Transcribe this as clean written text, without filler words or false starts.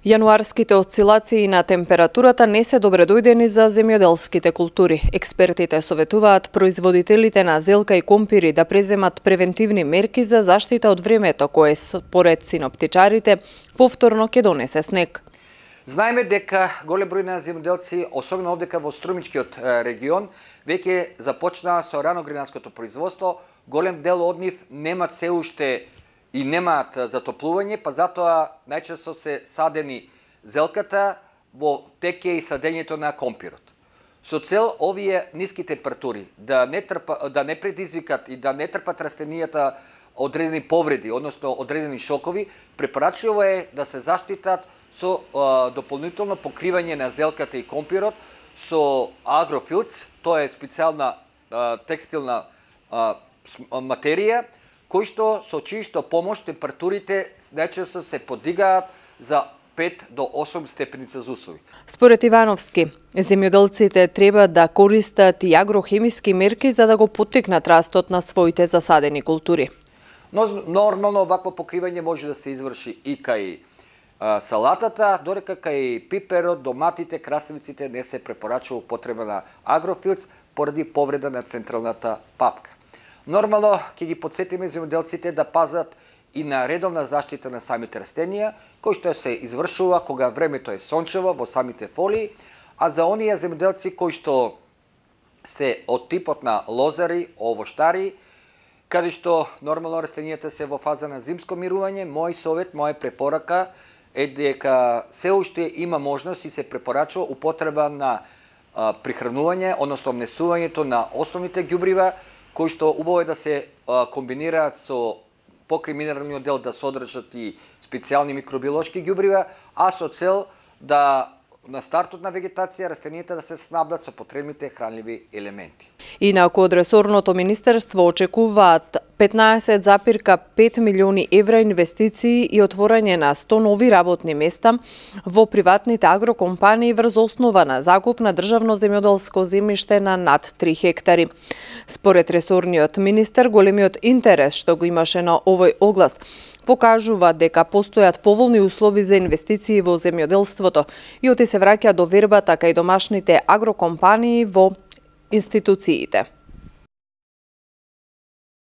Јануарските осцилации на температурата не се добре дојдени за земјоделските култури. Експертите советуваат производителите на зелка и компири да преземат превентивни мерки за заштита од времето, кое според синоптичарите повторно ќе донесе снег. Знаеме дека голем број на земјоделци, особено овдека во струмичкиот регион, веќе започнаа со раногринарското производство. Голем дел од нив немаат се уште и немаат затоплување, па затоа најчесто се садени зелката во теке и садењето на компирот. Со цел овие ниски температури да не предизвикат и да не трпат растенијата одредени повреди, односно одредени шокови, препорачливо е да се заштитат со дополнително покривање на зелката и компирот со агрофилц, тоа е специјална текстилна материја, кој што со чијшто помош температурите најчесто се подигаат за 5 до 8 степени Целзиусови. Според Ивановски, земјоделците треба да користат и агрохемиски мерки за да го поттикнат растот на своите засадени култури. Но нормално вакво покривање може да се изврши и кај салатата, додека кај пиперот, доматите, краставиците не се препорачува употреба на агрофилц поради повреда на централната папка. Нормално ќе ги подсетиме земјоделците да пазат и на редовна заштита на самите растенија, кој што се извршува кога времето е сончево во самите фолии, а за оние земјоделци кои што се од типот на лозари, овоштари, каде што нормално растенијата се во фаза на зимско мирување, мој совет, моја препорака е дека се уште има можност и се препорачува употреба на прихранување, односно внесувањето на основните ѓубрива, кои што убаво е да се комбинираат со покрај минералниот дел да содржат и специјални микробиолошки ѓубрива, а со цел да на стартот на вегетација растенијата да се снабдат со потребните хранливи елементи. Инаку од ресорното министерство очекуваат 15,5 милиони евра инвестиции и отворање на 100 нови работни места во приватните агрокомпании врз основа на закуп на државно земјоделско земјиште на над 3 хектари. Според ресорниот министер, големиот интерес што го имаше на овој оглас покажува дека постојат поволни услови за инвестиции во земјоделството и оти се враќа до вербата кај домашните агрокомпании во институциите.